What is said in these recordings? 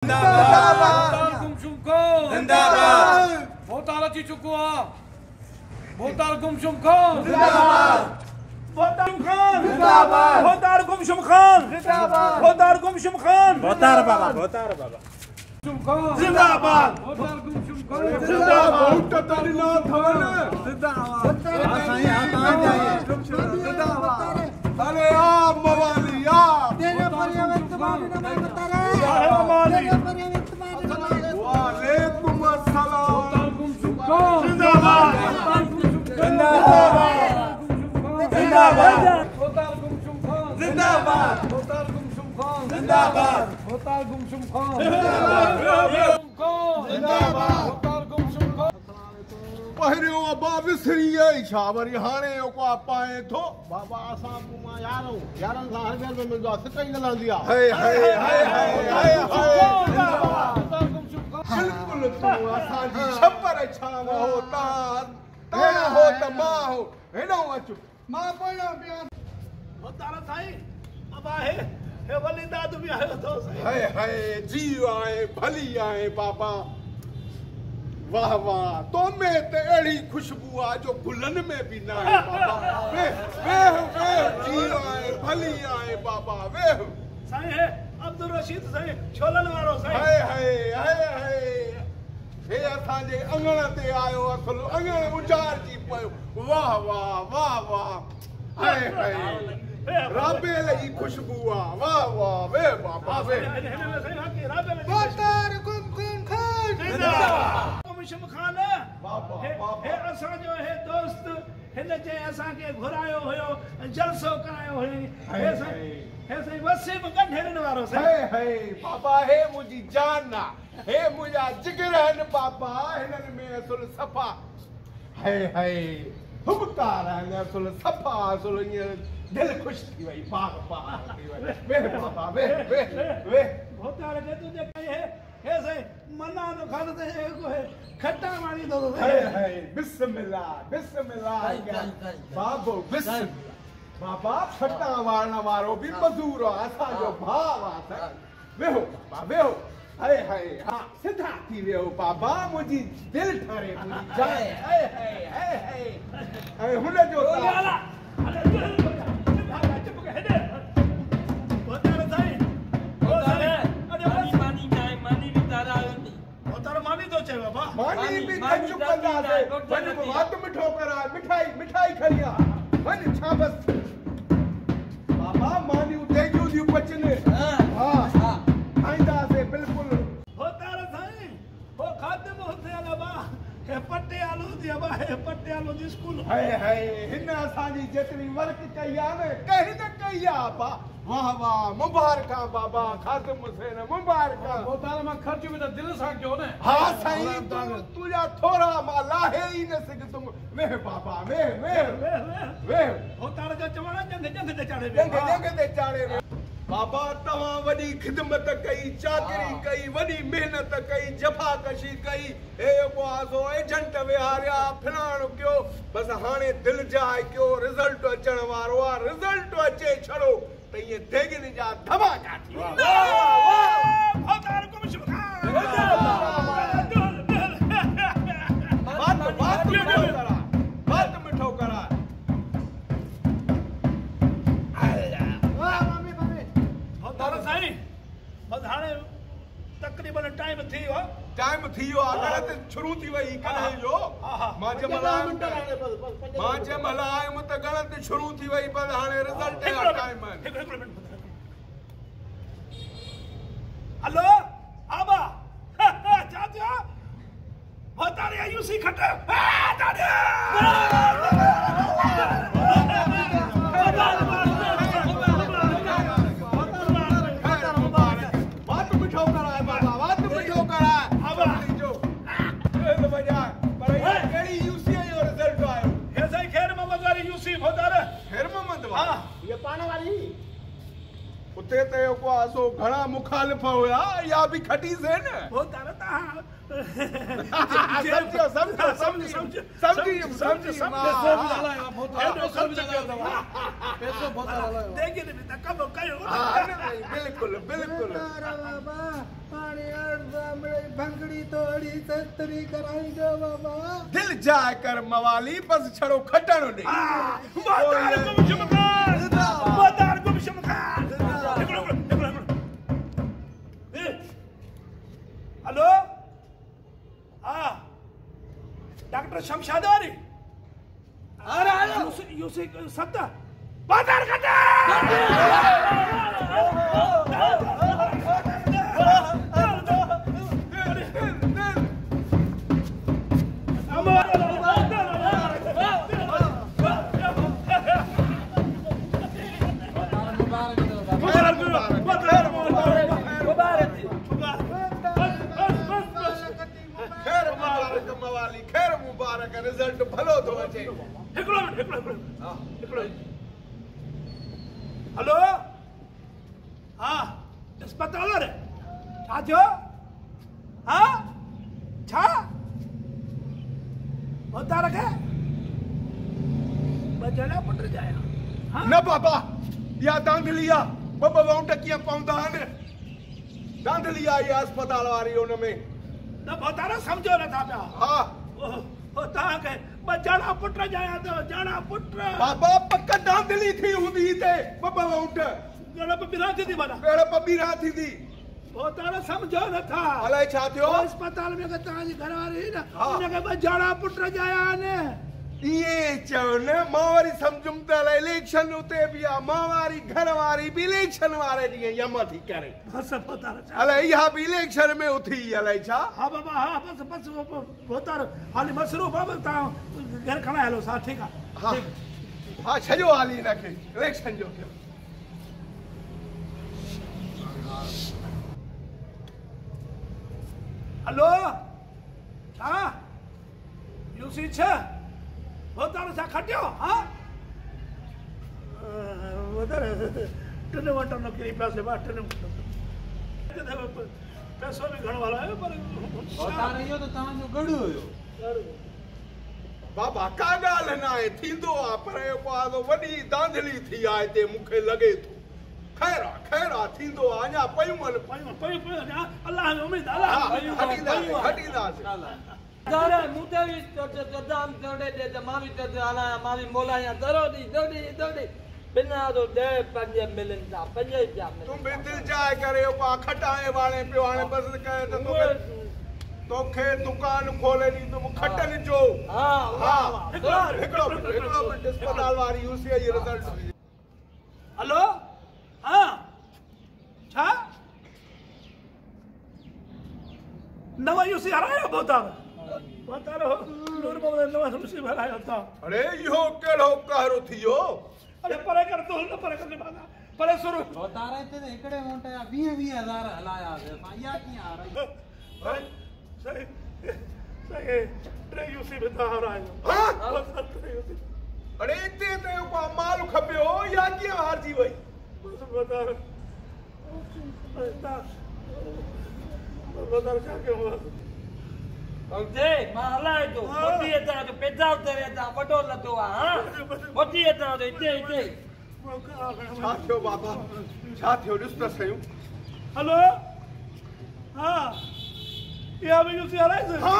भोतार गुमशुम खान जिंदाबाद। भोतार अची चुको आहे। भोतार गुमशुम खान जिंदाबाद। भोतार खान जिंदाबाद। भोतार गुमशुम खान जिंदाबाद। भोतार गुमशुम खान। भोतार बाबा, भोतार बाबा जिंदाबाद। भोतार गुमशुम खान जिंदाबाद। जिंदाबाद। जिंदाबाद। अरे आ मवाली आ तेरे परिवार तुम्हारे नाम बता रहे तेरे परिवार तुम्हारे नाम। वालेकुम अस्सलाम। जिंदाबाद जिंदाबाद जिंदाबाद। जिंदाबाद जिंदाबाद। जिंदाबाद। पहिरियों अबा विसरी वई छा वरी हाणे को पाए थो। बाबा असां पोइ मां यार आहियूं, यारनि सां हर ॻाल्हि में मिलंदो आहे, सिक ई न लहंदी आहे। हाय हाय हाय हाय हाय बिल्कुलु तूं असांजी छपर छांव हो, तां तां हो त मां हो। हेॾां अचु मां पोयां पिया। भोतार साईं अबा हे हे वली दाद बि आयो अथो साईं। हाय हाय जी आहे भली आहे बाबा। वाह वाह तो में त अहिड़ी ख़ुशबू आहे जो गुलनि में बि न आहे बाबा। वेह वेह वेह जी आहे भली आहे बाबा वेह। साईं हे अब्दुल रशीद साईं छोलनि वारो साईं। हाय हाय हाय हाय हे असांजे अंगण ते आयो, असुल अंगण उजाड़जी पियो। वाह वाह वाह वाह हाय हाय राबेल जी ख़ुशबू आहे। वाह वाह वेह बाबा वेह। भोतार गुमशुम खान जिंदाबाद। गुमशुम खान हे असांजो हे दोस्त हिन जंहिं असांखे घुरायो हुयो, जलसो करायो हुयो, हे साईं वसीम गंढेरनि वारो साईं। हे हे बाबा हे मुंहिंजी जान आहे, हे मुंहिंजा जिगर आहिनि बाबा। हिननि में असुल सफ़ा हे हे हुबकार आहिनि, असुल सफ़ा असुल ईअं दिलि ख़ुशि थी वई, बाग बाग थी वई। वेह बाबा वेह वेह वेह। भोतार खे तुंहिंजे हे हे साईं मना तो खान ते हे खट्टा वाणी थो। हे हे बिस्मिल्लाह बिस्मिल्लाह बाबो बिस्मिल्लाह। बाबा खट्टा वारण वारो बि मज़ूर आहे, असांजो भाउ आहे साईं। वेहो बाबा वेहो। हाय हाय हा सिधा थी वियो बाबा, मुंहिंजी दिलि ठरे मुंहिंजी जान। हाय हाय हाय हाय ऐं हुनजो मानी बि त चुप कंदासीं। वञ वात मिठो कराए, मिठाई मिठाई खणी आ वञ। छा बसि बाबा मानियूं देगियूं थियूं पचनि। हा खाईंदासीं बिल्कुलु। भोतार साईं हो खादिम हुसैन अबा हे पटियालू थी अबा हे पटियालू जी स्कूल। हाय हाय हिन असांजी जेतिरी वर्क कई आहे न कंहिं न कई आहे बाबा। वाह वाह मुबारक बाबा खादिम हुसैन मुबारक। भोतार मां ख़र्च बि त दिलि सां कयो न। हा साईं तुंहिंजा थोरा मां लाहे ई न सघंदुमि। वेह बाबा वेह वेह वेह। भोतार जो चवण जंघ जंघ ते चाढ़े जंघ जंघ ते चाढ़े। बाबा तव्हां वॾी ख़िदमत कई, चाकरी कई, वॾी महिनत कई, जफ़ाकशी कई, हे सो एजेंट विहारिया फलाणो कयो, बसि हाणे दिलि जाइ कयो, रिज़ल्ट अचण वारो आहे, रिज़ल्ट अचे छड़ो त ईअं देगिनि जा धमाका थी वेंदा। वात मिठो कराए, वात मिठो कराए। साईं बसि हाणे तक़रीबन टाइम थी वियो, टाइम थी वियो आहे, ॻणत शुरू थी वई कॾहिं जो। मां जंहिं महिल आयुमि त ॻणत शुरू थी वई, पर हाणे रिज़ल्ट जो टाइम आहे। हिकिड़ो मिंट। हलो आबा छा थियो? भोतारी यूसी खट उते त को आसो घणा मुखालिफ हुया या भी खटी से न भोतार तव्हां समझो समझो समझ समझ समझ पैसो बि हलायो भोतार पैसो बि हलायो पैसो भोतार हलायो देखी बि त कम कयो बिल्कुल बिल्कुल बाबा पाणी अर्ज़ मिड़ई भंगड़ी तोड़ी सस्तरी कराईंदो बाबा दिल जाए कर मवाली बस छड़ो खटण ॾे भोतार गुमशुम खान भोतार गुमशुम खान हिकिड़ो हिकिड़ो हिकिड़ो हेलो हाँ डॉक्टर शमशाद वारी अरे यूसी 7 भोतार खटे खैर मुबारक रिजल्ट भलो थो अचे हिकिड़ो मिनट हिकिड़ो हिकिड़ो हेलो हाँ अस्पताल रे छा थियो हाँ छा भोतार खे ॿ ॼणा पुट ॼाया न बाबा या दांधली आहे ॿ ॿ वाउंट कीअं पवंदा आहिनि दांधली आहे इहा अस्पताल वारी हुन में न भोतार सम्झो नथा पिया हा तव्हांखे ॿ ॼणा पुट ॼाया अथव ॼणा पुट बाबा पक दांधली थी हूंदी हिते ॿ ॿ वाउंट ॻणप ॿिरा थींदी माना ॻणप ॿिरा थींदी भोतार सम्झो नथा अलाए छा थियो अस्पताल में तव्हांजी घरवारी हुई न हुनखे ॿ ॼणा पुट ॼाया आहिनि इएं चओ न मां वरी सम्झुमि त अलाए इलेक्शन उते बि आहे मां वारी घर वारी बि इलेक्शन वारे ॾींहुं यम थी करे बसि भोतार अलाए इहा बि इलेक्शन में उथी अलाए छा हा बाबा हा बसि बसि भोतार हाली मसरूफ़ आहे तव्हां घर खणाए हलो सा ठीकु आहे हा हा छॾियो हाली हिनखे इलेक्शन जो थियो हेलो छा यूसी 6 भोतार छा खटियो हा भोतार टिन वटण किरी पियासीं बा टिन पैसो बि घणो हलायो पर भोतार इहो त तव्हांजो गढ़ हुयो बाबा का ॻाल्हि न आहे थींदो आहे पर इहो वॾी दांधली थी आहे हिते मूंखे लॻे थो ख़ैर आहे ख़ैर आहे थींदो आहे अञा पयूं आहिनि पयूं पयूं पयूं अलाह में उमेद अलाह खटींदासीं खटींदासीं दरे मुते भी दाम दौड़े दे त मां भी हलाया मां भी मोलाया दरोड़ी दौड़ी दौड़ी बिना तो दे पंज मिलन था पंज रुपया मिलन तुम भी दिल जाए करे पा खटाए वाले पियो हाणे बस कहे त तोखे तोखे दुकान खोले ॾींदुमि खटनि जो हा हा हिकिड़ो हिकिड़ो मिंट अस्पताल वारी यूसीआई रिजल्ट हेलो हाँ छा नवा यूसी हरायो भोतार भोतार नूर मोहम्मद नवा यूसी हरायो था अरे इहो कहिड़ो कहरो थी वियो अरे परे कर तो न परे कर बाबा परे सुर भोतार हिते त हिकिड़े मोंट जा 20 20 हज़ार हलाया असां इहा कीअं हाराई सही सही टे यूसी में था हरायो हां टे यूसी अरे हिते त को माल खपियो या कीअं हारजी वई बस भोतार भोतार छा कयूं जे मां हलाए थो मोटी अचां थो पैदा उतरे अचां वॾो लथो आहे हा मोटी अचां थो हिते हिते छा थियो बाबा छा थियो ॾिस त सही हेलो हा इहा बि यूसी हलाए हा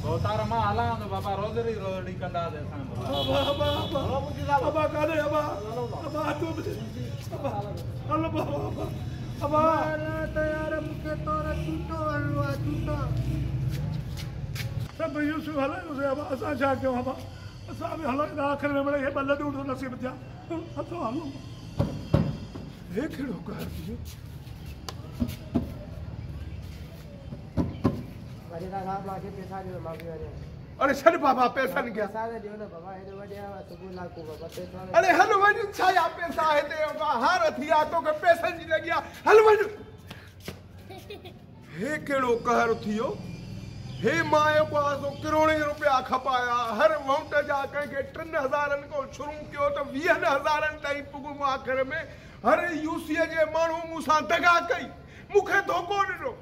भोतार मां हलां थो बाबा रोज़ड़ी रोज़ड़ी कंदासीं असां अबा अबा अबा अबा काने अबा अबा तूं अबा हलो बाबा अबा अबा त यार मूंखे तोर चूटो वञिणो आहे चूटो सभु यूसुफ हलायोसीं अबा असां छा कयूं अबा असां बि हलाईंदा आख़िर में मिड़ई हे ॿ लॾूं नसीब थिया हथो हलो हे कहिड़ो कहर थी वियो अरे छॾ बाबा पैसनि खे पैसा ॾियो न बाबा हेॾो वॾे सुबुह लाकू बाबा पैसा अरे हल वञ छा या पैसा हिते हार थी आहे तोखे पैसनि जी लॻी आहे हल वञ हे कहिड़ो कहर थी वियो هي مان جيڪو آ سو ڪروڙين روپيا کپايا، هر وونٽ جا ڪنهن کي ٽن هزارن کان شروع ڪيو ته ويهن هزارن تائين پڳم، آخر ۾ هر يو سيء جي ماڻهو مون سان دغا ڪئي، مون کي ڌوڪو ڏنو،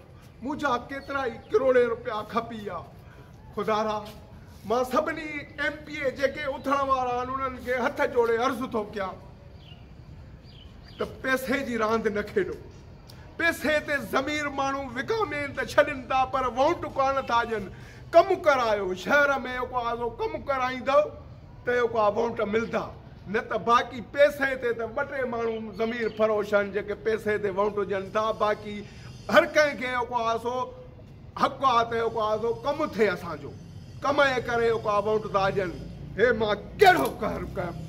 منهنجا ڪيترائي ڪروڙين روپيا کپي ويا. خدارا مان سڀني ايم پي اي جيڪي اٿڻ وارا آهن انهن کي هٿ جوڙي عرض ٿو ڪيان ته پئسي جي راند نه کيڏو. پئسي تي ضمير ماڻهو وڪامين ته ڇڏين ٿا پر وونٽ ڪانه ٿا ڏين. ڪم ڪرايو، شهر ۾ جيڪو آ سو ڪم ڪرائيندؤ ته جيڪو آ وونٽ ملدا، نه ته باقي پئسي تي ته ٻه ٽي ماڻهو ضمير فروش آهن جيڪي پئسي تي وونٽ ڏين ٿا، باقي هر ڪنهن کي جيڪو آ سو حق آ ته جيڪو آ سو ڪم ٿئي اسان جو، ڪم جي ڪري جيڪو آ وونٽ ٿا ڏين. هي مان ڪهڙو قهر ڪيم.